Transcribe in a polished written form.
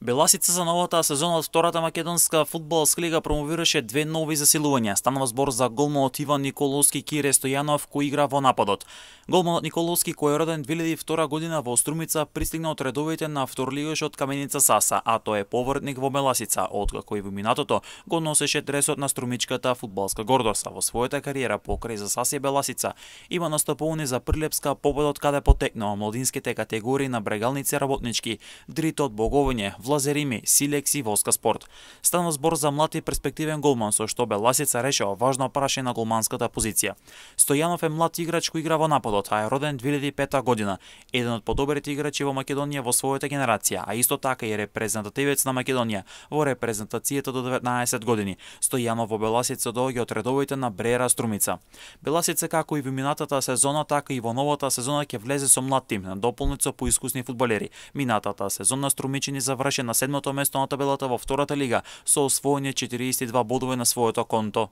Беласица за новата сезона од втората македонска фудбалска лига промовираше две нови засилувања. Станува збор за голманот Иван Николовски Кире Стојанов, кој игра во нападот. Голманот Николовски, кој е роден 2002 година во Струмица, пристигна од редовите на вторлигашот Каменица Саса, а тој е повратник во Беласица, откако и во минатото го носеше дресот на струмичката фудбалска гордост. Во својата кариера покрај за Сасе Беласица има настапувани за Прилепска победот каде потекнува младинските категории на брегалници работнички, Дритот, Боговиње, Влазерими, Силекс и Воска спорт. Станува збор за млад и перспективен голман со што Беласица решава важно прашање на голманската позиција. Стојанов е млад играч кој игра во нападот, а е роден 2005 година, еден од подобрите играчи во Македонија во својата генерација, а исто така и репрезентативец на Македонија во репрезентацијата до 19 години. Стојанов во Беласица доаѓа од редовите на Бреера Струмица. Беласица како и во минатата сезона, така и во новата сезона ќе влезе со млад тим, надополнет со поискусни фудбалери. Минатата сезона струмичани заврши на 7-то место на табелата во втората лига со освоени 42 бодови на своето конто.